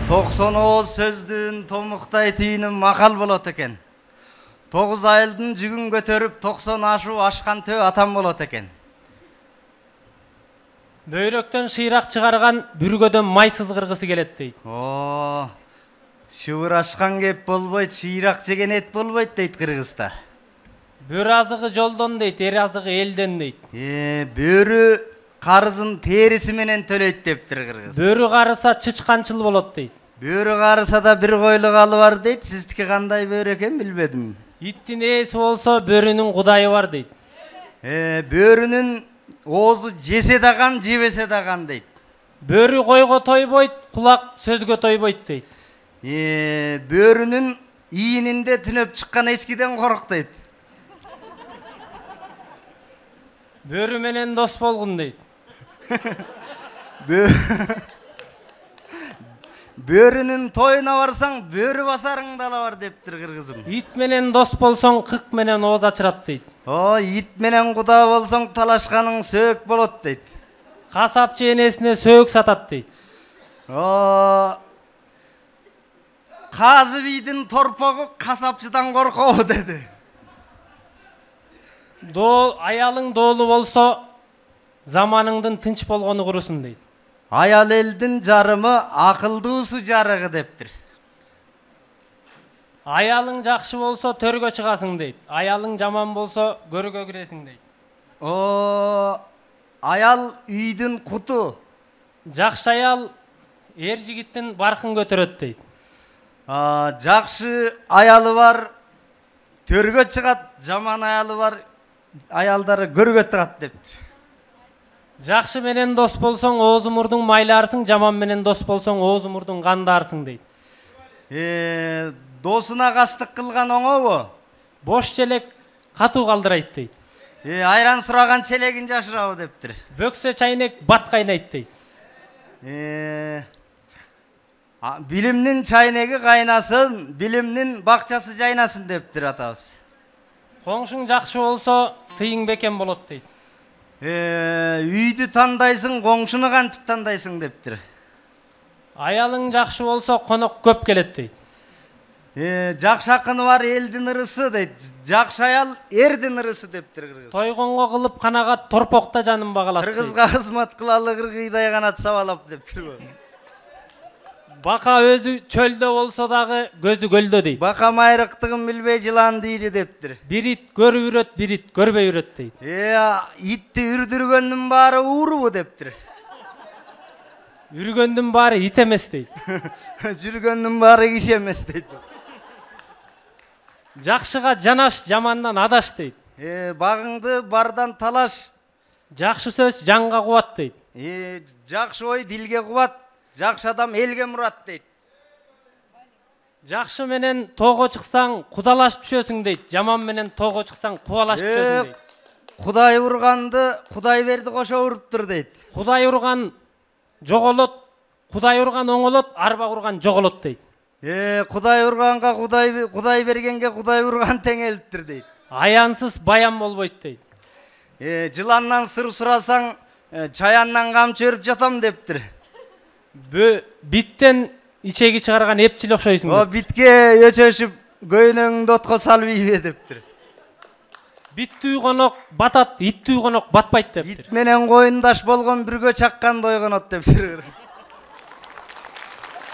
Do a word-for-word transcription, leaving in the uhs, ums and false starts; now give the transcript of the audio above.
токсон ооз сөздүн томуктай түйүнү макал болот экен. Тогуз айылдын жүгүн көтөрүп токсон ашуу ашкан төө атам болот экен. Бөйрөктөн шыйрак чыгарган бүргөдөн май сызгыргысы келет дейт. О, шыбырашкан кеп болбойт, шыйрак жеген эт болбойт дейт кыргызда. Бөрү азыгы жолдон дейт, эр азыгы элден дейт. Э, бөрү карызын териси менен төлөйт дептир кыргыз. Бөрү карыса чычканчыл болот дейт. Бөрү карыса да бир койлук алы бар дейт. Сиздики кандай бөрү экен билбедим. Иттин ээси болсо бөрүнүн кудайы бар дейт. Э, бөрүнүн оозу жесе даган, жебесе даган дейт. Бөрү койго тойбойт, кулак сөзгө тойбойт дейт. Э, бөрүнүн ийининде түнөп чыккан эчкиден корк дейт. Бөрү менен дос болгун дейт. Бөрүнүн тоюна барсаң, бөрү басарың дала бар дептир кыргызым. Ит менен дос болсоң, кык менен ооз ачырат дейт. О, ит менен куда болсоң, талашканың сөөк болот дейт. Касапчы энесине сөөк сатат дейт. О, казы бийдин торпогу касапчыдан коркобу деди. Доо, аялың доолу болсо, заманыңдын тынч болгону курусун дейт. Аял элдин жарымы акылдуусу жарыгы дептир. Аялың жакшы болсо төргө чыгасың дейт. Аялың жаман болсо көргө киресиң дейт. О, аял үйдүн куту. Жакшы аял эр жигиттин баркын көтөрөт дейт. А, жакшы аялы бар төргө чыгат, жаман аялы бар аялдары көргө чыгат дептир. Жакшы менен дос болсоң, ооз мурдуң майлаарсың, жаман менен дос болсоң, ооз мурдуң кандаарсың дейт. Э, досуна кастык кылган оңобу? Бош челек катуу калдырайт дейт. Э, айран сураган челегин жашырабы дептир. Бөксө чайнек бат кайнайт дейт. Э, билимдин чайнеги кайнасын, билимдин бакчасы жайнасын дептир атабыз. Коңшуң жакшы болсо, сыйың бекем болот дейт. Э, үйдү тандайсың, коңшуну кантип тандайсың дептир. Аялың жакшы болсо, конок көп келет дейт. Э, жакшы акыны бар элдин ырысы дейт. Жакшы аял эрдин ырысы дептир кыргыз. Тойгонго кылып канагат торпокта жанын багалат дейт. Кыргызга кызмат кылалы кыргыйдай канат сабалап дептир. Бака өзү чөлдө болсо дагы көзү көлдө дейт. Бака майрыктыгын билбей жылан дейри дептир. Бир ит көрүп үрөт, бир ит көрбөй үрөт дейт. Э, итти үрдүргөндүн баары уурубу дептир. Үргөндүн баары ит эмес дейт. Жүргөндүн баары киши эмес дейт. Жакшыга жанаш, жамандан адаш дейт. Э, багыңды бардан талаш. Жакшы сөз жанга кубат дейт. Э, жакшы ой дилге кубат. Жакшы адам элге мурат дейт. Жакшы менен тоого чыксаң, кудалашып түшөсүң дейт. Жаман менен тоого чыксаң, кубалашып түшөсүң дейт. Кудай урганды, Кудай берди кошо уруптур дейт. Кудай урган жоголот, Кудай урган оңолот, арба урган жоголот дейт. Э, Кудай урганга Кудай Кудай бергенге Кудай урган тең элиптир дейт. Аянсыз баян болбойт дейт. Э, жыландан сыр сурасаң, чаяндан камчы өрүп жатам дептир. Бө биттен ичеги чыгарган эпчил окшойсуң. О, битке өчөшүп көйнөңдү отко салып ийбе дептир. Бит түйгөнок батат, ит түйгөнок батпайт дептир. Ит менен коюндаш болгон бүргө чаккан дойгонот дептир.